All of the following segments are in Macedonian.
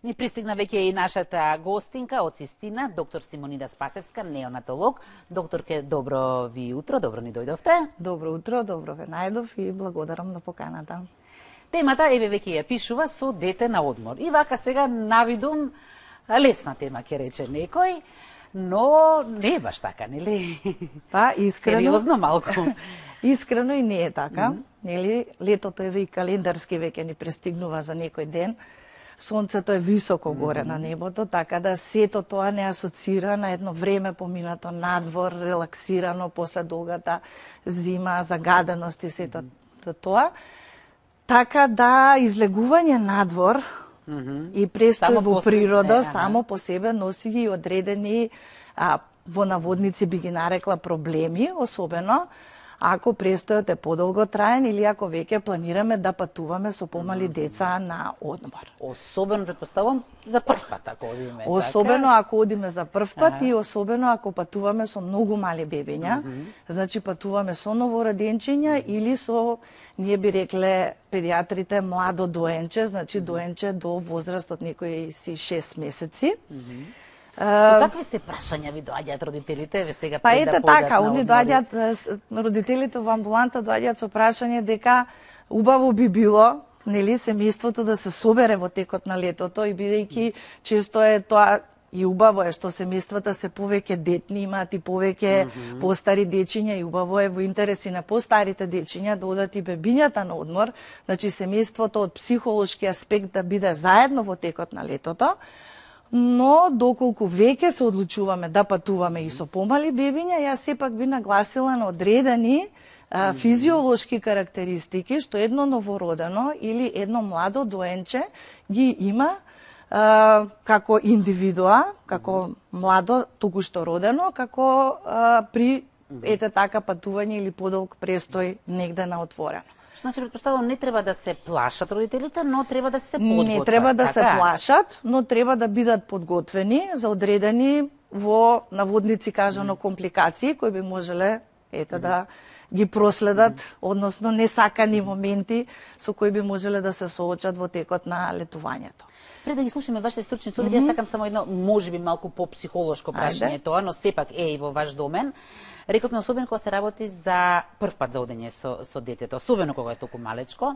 Ни пристигна веќе и нашата гостинка од Систина, доктор Симонида Спасевска, неонатолог. Докторке, добро ви утро, добро ни дојдовте. Добро утро, добро ве најдов и благодарам на поканата. Темата, еве веќе ја пишува, со дете на одмор. И вака сега навидум лесна тема, ќе рече некој, но не е баш така, нели? Па, искрено. Сериозно малку. Искрено и не е така, нели? Летото еве и календарски веќе ни пристигнува за некој ден. Сонцето е високо горе на небото, така да сето тоа не асоцира на едно време поминато надвор, релаксирано после долгата зима, загаденост и сето тоа. Така да излегување надвор и престој во природа само по себе носи и одредени во наводници би ги нарекла проблеми, особено ако престојот е подолго траен или ако веќе планираме да патуваме со помали деца на одмор. Особено, предпоставам, за прв пат ако одиме. Особено ако одиме за прв пат и особено ако патуваме со многу мали бебиња, значи патуваме со новороденчиња или со, ние би рекле педиатрите, младо доенче, значи доенче до возраст од некои си 6 месеци. Со какви се прашања ви доаѓаат родителите? Ве сега па ете така, они доаѓаат, родителите во амбуланта доаѓаат со прашање дека убаво би било, нели, семејството да се собере во текот на летото и бидејќи често е тоа и убаво е што семејствата се повеќе детни, имаат и повеќе постари дечиња и убаво е во интереси на постарите дечиња да одат и бебињата на одмор, значи семејството од психолошки аспект да биде заедно во текот на летото. Но доколку веќе се одлучуваме да патуваме и со помали бебиња, јас сепак би нагласила на одредени физиолошки карактеристики што едно новородено или едно младо доенче ги има како индивидуа, како младо токушто родено, како при ете така патување или подолг престој негде на отворено. Значи, предпоставувам, не треба да се плашат родителите, но треба да се подготват. Не треба да се плашат, но треба да бидат подготвени за одредени во наводници кажано компликации кои би можеле да ги проследат, односно несакани моменти со кои би можеле да се соочат во текот на летувањето. Пред да ги слушаме вашите стручни совети, јас сакам само едно, можеби малку по-психолошко прашање тоа, но сепак е и во ваш домен. Рековме, особено кога се работи за прв пат за одење со детето, особено кога е толку малечко,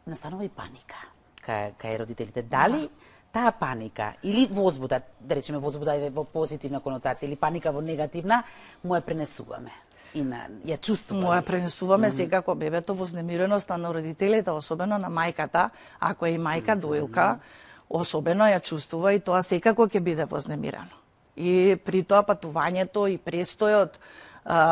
настанува и паника кај родителите. Дали таа паника или возбуда, да речеме возбуда е во позитивна конотација или паника во негативна, му ја пренесуваме? И ја чувствуваме. Му ја пренесуваме секако бебето, вознемиреноста на родителите, особено на мајката, ако е и мајка доилка, особено ја чувствува и тоа секако ќе биде вознемирено. И при тоа патувањето и престојот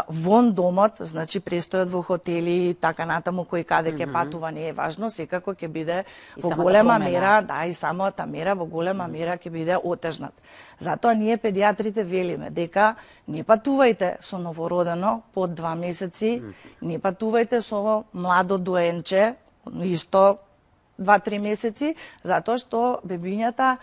вон домот, значи престојот во хотели и така натаму кој каде ќе патува не е важно, секако ќе биде во голема мера, и самата мера во голема мера ќе биде отежнат. Затоа ние педиатрите велиме дека не патувајте со новородено под 2 месеци, не патувајте со младо доенче, исто 2-3 месеци, затоа што бебињата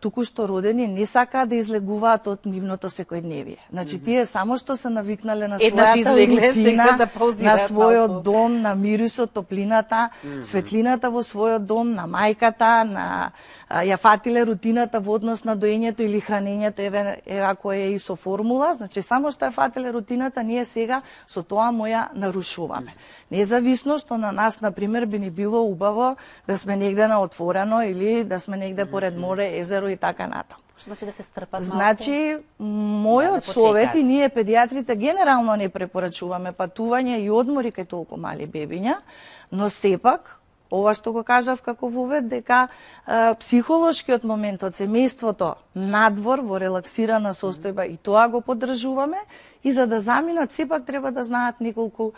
туку што родени не сакаат да излегуваат од нивното секојдневие. Значи тие само што се навикнале на својата рутина, на својот дом, на мирисот, топлината, светлината во својот дом, на мајката, на ја фатиле рутината во однос на доењето или хранењето, еве ако е и со формула, значи само што ја фатиле рутината, ние сега со тоа му ја нарушуваме. Независно што на нас, например, би ни било убаво да сме негде на отворено или да сме негде поред море, езеро и така натаму. Што значи да се стрпат малку? Значи, мојот совет и ние педиатрите генерално не препорачуваме патување и одмори кај толку мали бебиња, но сепак ова што го кажав како вовед, дека психолошкиот момент од семејството надвор во релаксирана состојба и тоа го поддржуваме и за да заминат сепак треба да знаат неколку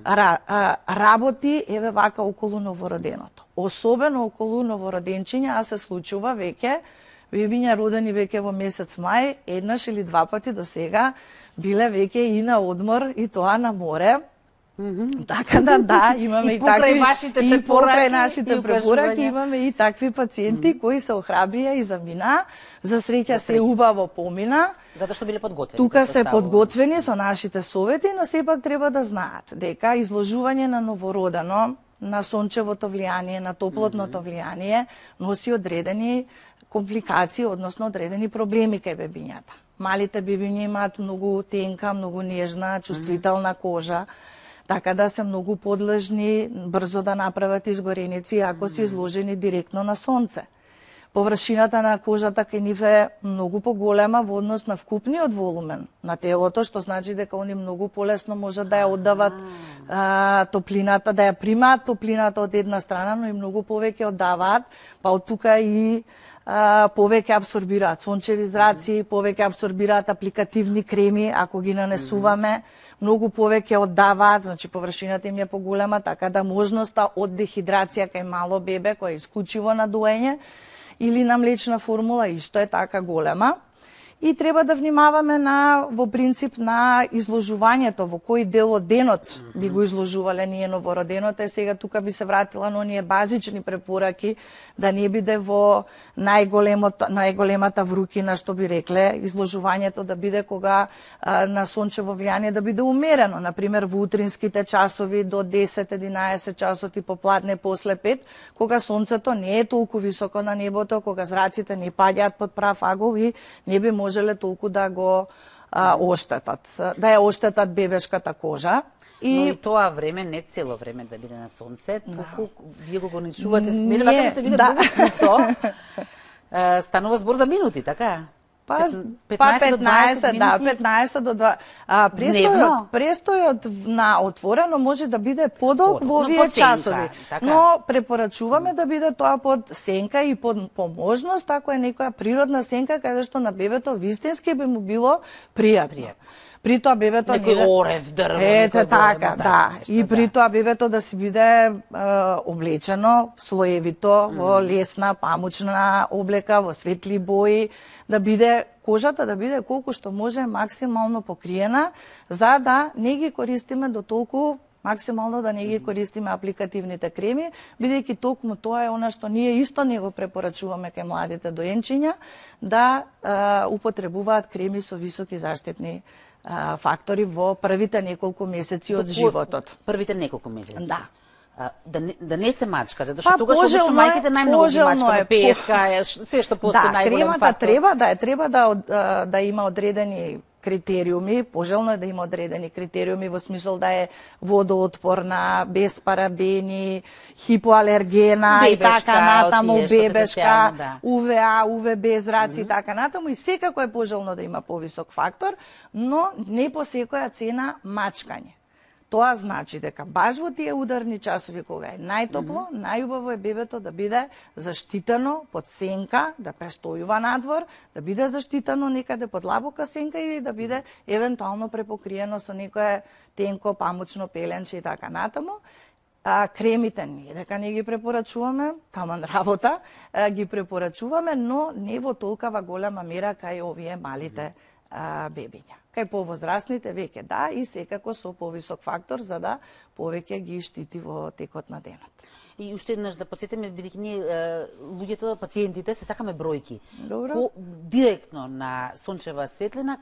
работи еве вака околу новороденото. Особено околу новороденчиња, а се случува веќе бебиња родени веќе во месец мај, еднаш или 2 пати до сега биле веќе и на одмор и тоа на море. Така да, имаме и такви и покрај нашите препораки имаме и такви пациенти кои се охрабрија и замина, за среќа се убаво помина. Затоа што биле подготвени. Тука се подготвени со нашите совети, но сепак треба да знаат дека изложување на новородено на сончевото влијание, на топлотното влијание, носи одредени компликации, односно одредени проблеми кај бебињата. Малите бебиња имаат многу тенка, многу нежна, чувствителна кожа, така да се многу подлежни брзо да направат изгореници ако се изложени директно на сонце. Површината на кожата кај нив е многу поголема во однос на вкупниот волумен на телото, што значи дека они многу полесно можат да ја оддават топлината, да ја примаат топлината од една страна, но и многу повеќе оддаваат, па од тука и повеќе абсорбираат сончеви зраци, повеќе абсорбираат апликативни креми, ако ги нанесуваме, многу повеќе оддаваат, значи површината им е поголема, така да можноста од дехидрација кај мало бебе, кој е исклучиво на доење, или на млечна формула исто е така голема. И треба да внимаваме во принцип на изложувањето, во кој дел од денот би го изложувале ние новороденото. Сега тука би се вратила на оние базични препораки, да не биде во најголемата врукина, што би рекле, изложувањето да биде кога на сончево влијание да биде умерено, например во утринските часови до 10-11 часот и попладне после 5, кога сонцето не е толку високо на небото, кога зраците не паѓаат под прав агол и не би можеле толку да го оштетат, да ја оштетат бебешката кожа. Но и тоа време не цело време да биде на сонце, туку вие го ограничувате, мене вака да се биде многу кусо. Станува збор за минути, така? 15 до 2. Престојот на отворено може да биде подолг во овие часови, но препорачуваме да биде тоа под сенка и по можност, ако е некоја природна сенка каде што на бебето вистински би му било пријатно. При тоа бебето некој орев дрво, некој така, да. И при тоа бебето да си биде облечено слоевито во лесна памучна облека, во светли бои, да биде кожата да биде колку што може максимално покриена, за да не ги користиме до толку максимално да не ги користиме апликативните креми, бидејќи токму тоа е она што ние исто не го препорачуваме кај младите доенчиња, да употребуваат креми со високи заштитни фактори во првите неколку месеци од животот. Првите неколку месеци? Да. Да не се мачка, зашто тогаш обично мајките најмногу ги мачкаат, песка, се што постои најголем фактор. Треба да има одредени критериуми, пожелно е да има одредени критериуми во смисол да е водоотпорна, без парабени, хипоалергена и така натаму, бебешка, УВА, УВБ зраци и така натаму, и секако е пожелно да има повисок фактор, но не по секоја цена мачкање. Тоа значи дека баш во тие ударни часови кога е најтопло, најубаво е бебето да биде заштитено под сенка, да престојува надвор, да биде заштитено некаде под лабока сенка или да биде евентуално препокриено со некое тенко памучно пеленче и така натаму. Кремите не дека не ги препорачуваме, таман работа, ги препорачуваме, но не во толкава голема мера кај овие малите бебиња. Кај повозрастните веќе да, и секако со повисок фактор за да повеќе ги штити во текот на денот. И уште еднаш да потсетиме, бидејќи ние луѓето, пациентите се сакаме бројки. Добро. Директно на сончева светлина,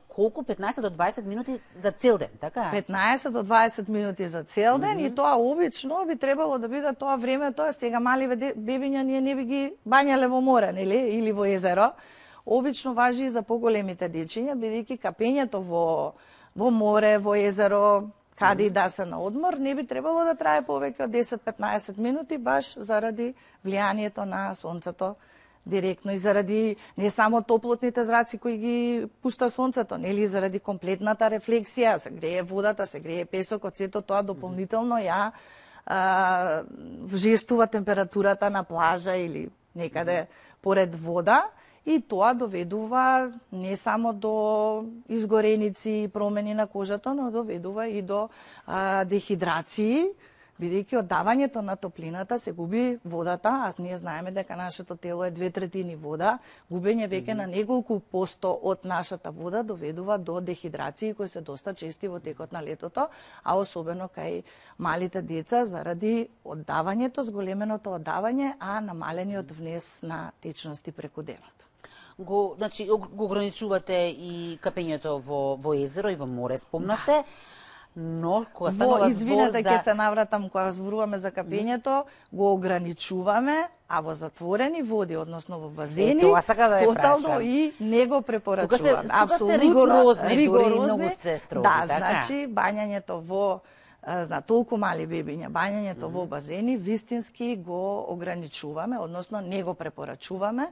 колку 15 до 20 минути за цел ден, така? 15 до 20 минути за цел ден и тоа обично би требало да биде тоа време, тоа сега мали бебиња ние не би ги бањале во море, нели, или во езеро. Обично важи и за поголемите дечиња, бидејќи капењето во море, во езеро, каде и да се на одмор, не би требало да трае повеќе од 10-15 минути, баш заради влијанието на сонцето директно и заради не само топлотните зраци кои ги пушта сонцето, нели, заради комплетната рефлексија, се грее водата, се грее песокот, сето тоа дополнително ја вжестува температурата на плажа или некаде поред вода. И тоа доведува не само до изгореници и промени на кожата, но доведува и до дехидрации, бидејќи оддавањето на топлината се губи водата, а ние знаеме дека нашето тело е 2/3 вода, губење веќе на неколку посто од нашата вода доведува до дехидрации кои се доста чести во текот на летото, а особено кај малите деца заради оддавањето, зголеменото оддавање, а намалениот внес на течности преку денот. Значи, го ограничувате и капењето во езеро и во море, спомнавте. Но кога станува збор за... ќе се навратам, кога зборуваме за капењето, го ограничуваме, а во затворени води, односно во базени, тотално и не го препорачуваме. Тука сте ригорозни, дури многу сте строги. Да, значи, бањањето во толку мали бебиња, бањањето во базени, вистински го ограничуваме, односно не го препорачуваме,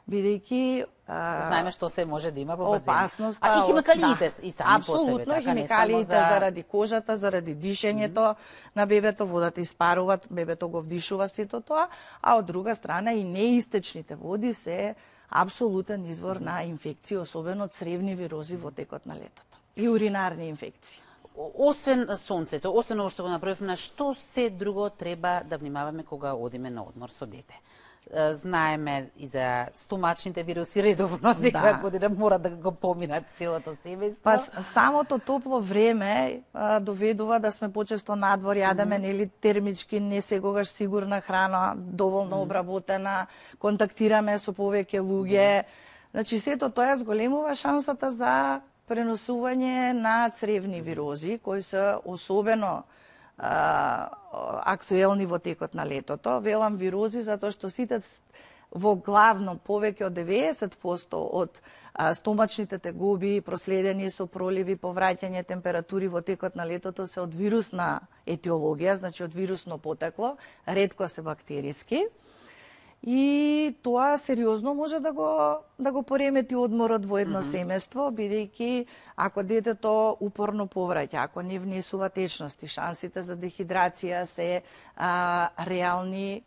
бидејќи знаеме што се може да има во базени. Опасност. А и химикалиите и сами по себе. Апсолутно, химикалиите заради кожата, заради дишењето на бебето, водата испарува, бебето го вдишува сето тоа, а од друга страна и неистечните води се апсолутен извор на инфекции, особено цревни вирози во текот на летото и уринарни инфекции. Освен сонцето, освен ово што го направивме, на што се друго треба да внимаваме кога одиме на одмор со дете? Знаеме и за стомачните вируси редовно, секоја година мора да го поминат целото семејство. Па самото топло време доведува да сме почесто надвор, јадеме нели термички, не секогаш сигурна храна, доволно обработена, контактираме со повеќе луѓе. Значи сето тоа зголемува шансата за преносување на цревни вирози, кои се особено актуелни во текот на летото. Велам вирози затоа што сите во главно повеќе од 90% од стомачните тегоби, проследени со проливи, повраќање температури во текот на летото се од вирусна етиологија, значи од вирусно потекло, ретко се бактериски. И тоа сериозно може да го поремети одморот во едно семејство, бидејќи ако детето упорно повраќа, ако не внесува течности, шансите за дехидрација се реални,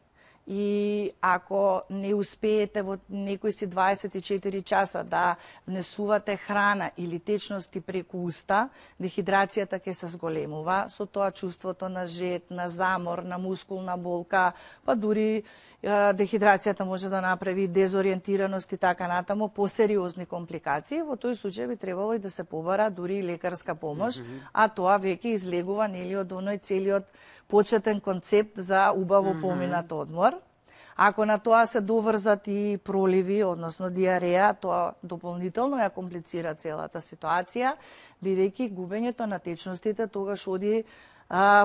и ако не успеете во некои си 24 часа да внесувате храна или течности преку уста, дехидрацијата ќе се зголемува, со тоа чувството на жед, на замор, на мускулна болка, па дури дехидрацијата може да направи дезориентираност и така натаму, посериозни компликации. Во тој случај би требало и да се побара дури и лекарска помош, а тоа веќе излегува нели од оној целиот почетен концепт за убаво поминат одмор. Ако на тоа се доврзат и проливи, односно диареја, тоа дополнително ја комплицира целата ситуација, бидејќи губењето на течностите тогаш оди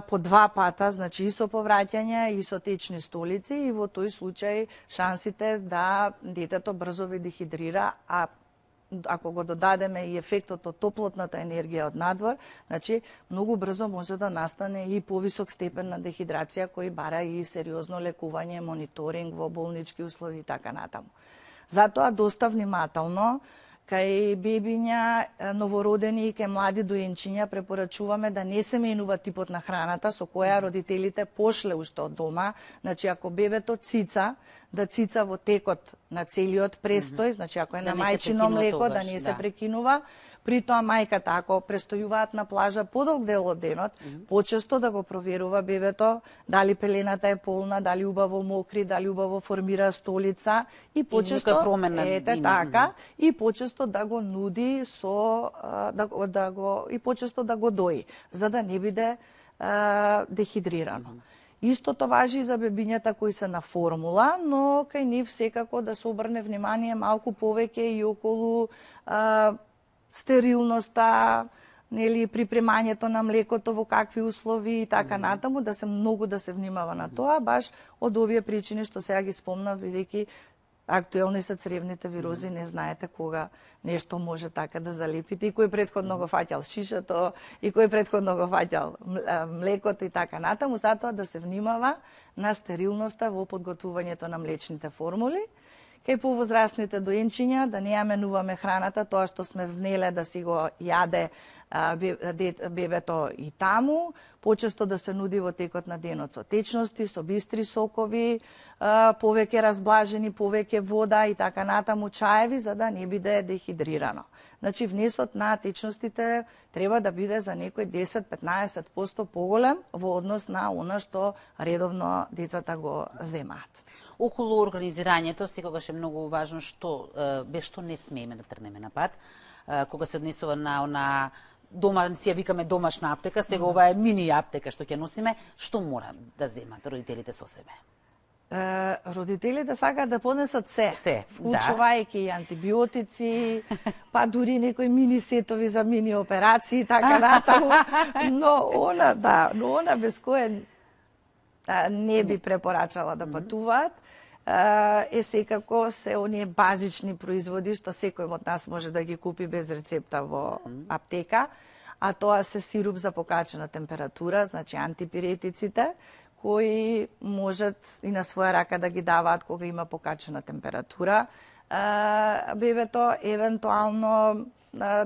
по два пата, значи и со повраќање и со течни столици, и во тој случај шансите да детето брзо ви дехидрира, а ако го додадеме и ефектот од топлотната енергија од надвор, значи многу брзо може да настане и повисок степен на дехидрација кој бара и сериозно лекување, мониторинг во болнички услови и така натаму. Затоа доста внимателно кај бебиња, новородени и кај млади доенчиња препорачуваме да не се менува типот на храната со која родителите пошле уште од дома. Значи, ако бебето цица, да цица во текот на целиот престој, значи ако е на мајчино млеко, да не се прекинува. При тоа мајката, ако престојуваат на плажа подолг дел од денот, почесто да го проверува бебето дали пелената е полна, дали убаво мокри, дали убаво формира столица и почесто и почесто да го нуди со и почесто да го дои, за да не биде дехидрирано. Истото важи и за бебињата кои се на формула, но кај нив секако да се обрне внимание малку повеќе и околу стерилноста, нели припремањето на млекото во какви услови и така натаму, да се многу да се внимава на тоа, баш од овие причини што сега ги спомнав, бидејќи актуелни се цревните вирози, не знаете кога нешто може така да залепите, и кој претходно го фаќал шишето, и кој претходно го фаќал млекото и така натаму, затоа да се внимава на стерилноста во подготвувањето на млечните формули. Кај повозрастните доенчиња да не ја менуваме храната, тоа што сме внеле да си го јаде бебето и таму, почесто да се нуди во текот на денот со течности, со бистри сокови, повеќе разблажени, повеќе вода и така натаму, чаеви, за да не биде дехидрирано. Значи, внесот на течностите треба да биде за некој 10-15% поголем во однос на она што редовно децата го земаат. Околу организирањето секогаш е многу важно што без што не смееме да тргнеме на пат. Кога се однесува на она дома, си ја викаме домашна аптека, сега ова е мини аптека што ќе носиме, што мора да земат родителите со себе? Родителите сакаат да понесат се, да. вклучувајќи и антибиотици, па дури некои мини сетови за мини операции, така натаму. Но она без кое не би препорачала да патуваат, секако се оние базични производи што секој од нас може да ги купи без рецепта во аптека, а тоа се сируп за покачена температура, значи антипиретиците, кои можат и на своја рака да ги даваат кога има покачена температура. Бебето евентуално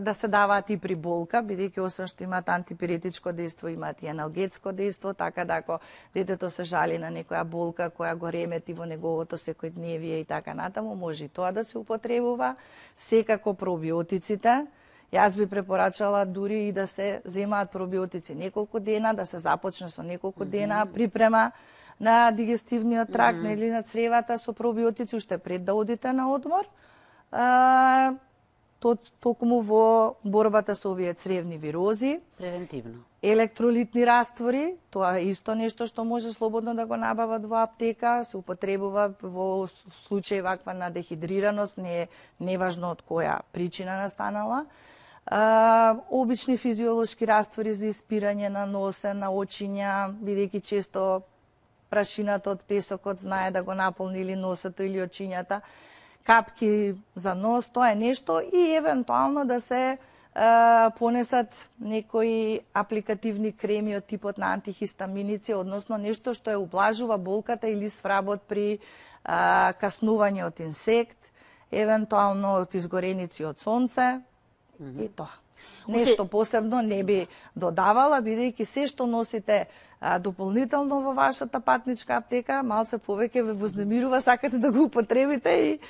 да се даваат и при болка, бидејќи освен што имаат антипиретичко дејство, имаат и аналгетско дејство, така да ако детето се жали на некоја болка која го ремети во неговото секојдневие и така натаму, може и тоа да се употребува. Секако пробиотиците. Јас би препорачала дури и да се земаат пробиотици неколку дена, да се започне со неколку дена припрема на дигестивниот тракт или на цревата со пробиотици уште пред да одите на одмор. Токму во борбата со овие цревни вирози. Превентивно. Електролитни раствори, тоа е исто нешто што може слободно да го набават во аптека, се употребува во случај ваква на дехидрираност, не е неважно од која причина настанала. Обични физиолошки раствори за испирање на носе, на очиња, бидејќи често прашината од песокот знае да го наполни или носето или очињата. Капки за нос, тоа е нешто и евентуално да се понесат некои апликативни креми од типот на антихистаминици, односно нешто што ја ублажува болката или свработ при каснување од инсект, евентуално од изгореници од сонце и тоа. Нешто посебно не би додавала, бидејќи се што носите дополнително во вашата патничка аптека, малце повеќе ве вознемирува, сакате да го употребите и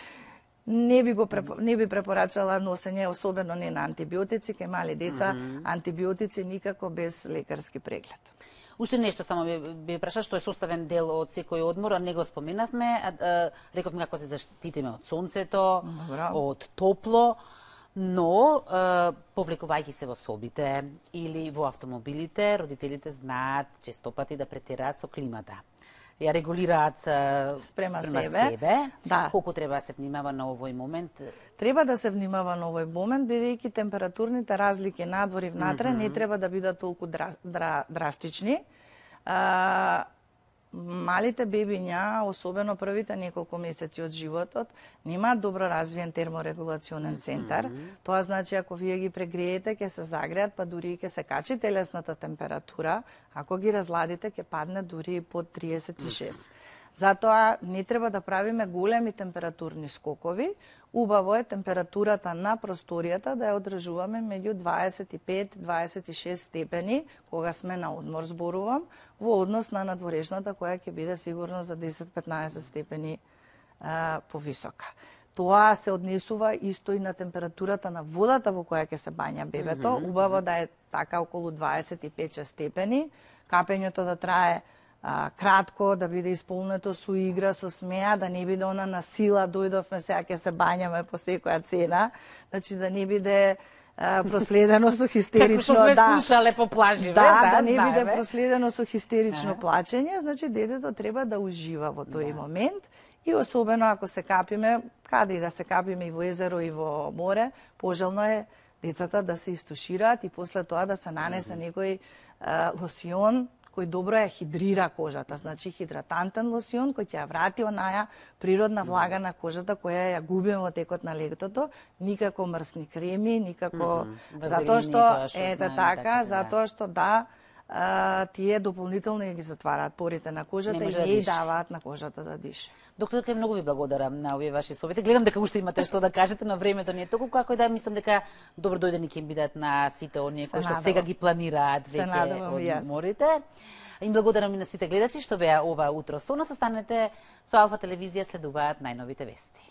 не би препорачала носење, особено не на антибиотици, кај мали деца, антибиотици никако без лекарски преглед. Уште нешто само би праша, што е составен дел од секој одмор, а не го споменавме, рековме како се заштитиме од сонцето, од топло, но повлекувајќи се во собите или во автомобилите, родителите знаат честопати да претераат со климата. Ја регулираат спрема себе. Да. Колку треба да се внимава на овој момент? Треба да се внимава на овој момент, бидејќи температурните разлики надвор и внатре не треба да бидат толку драстични. Малите бебиња, особено првите неколку месеци од животот, немаат добро развиен терморегулационен центар. Тоа значи ако вие ги прегреете, ќе се загреат, па дури и ќе се качи телесната температура, ако ги разладите, ќе падне дури и под 36. Затоа не треба да правиме големи температурни скокови. Убаво е температурата на просторијата да ја одржуваме меѓу 25-26 степени, кога сме на одмор зборувам, во однос на надворешната која ќе биде сигурно за 10-15 степени повисока. Тоа се однесува исто и на температурата на водата во која ќе се бања бебето. Убаво да е така околу 25 степени, капењето да трае кратко, да биде исполнето со игра, со смеа, да не биде она на сила, дојдовме сега ќе се бањаме по секоја цена, значи да не биде проследено со хистерично, како што сме слушале по плаживе, да не биде проследено со хистерично плачење, значи детето треба да ужива во тој момент и особено ако се капиме, каде и да се капиме и во езеро и во море, пожелно е децата да се истушираат и после тоа да се нанесе некој лосион кој добро ја хидрира кожата, значи хидратантен лосион кој ќе ја врати онаја природна влага на кожата која ја губиме во текот на летото, никако мрсни креми, никако затоа што затоа што тие дополнително ги затвараат порите на кожата и не даваат на кожата да дише. Докторка, многу ви благодарам на овие ваши совети. Гледам дека уште имате што да кажете, но времето не е толку како да мислам дека добро дојдени ќе бидат на сите оние кои што сега ги планираат веќе одморите. Им благодарам и на сите гледачи што беа ова утро со нас. Останете со Алфа телевизија, следуваат најновите вести.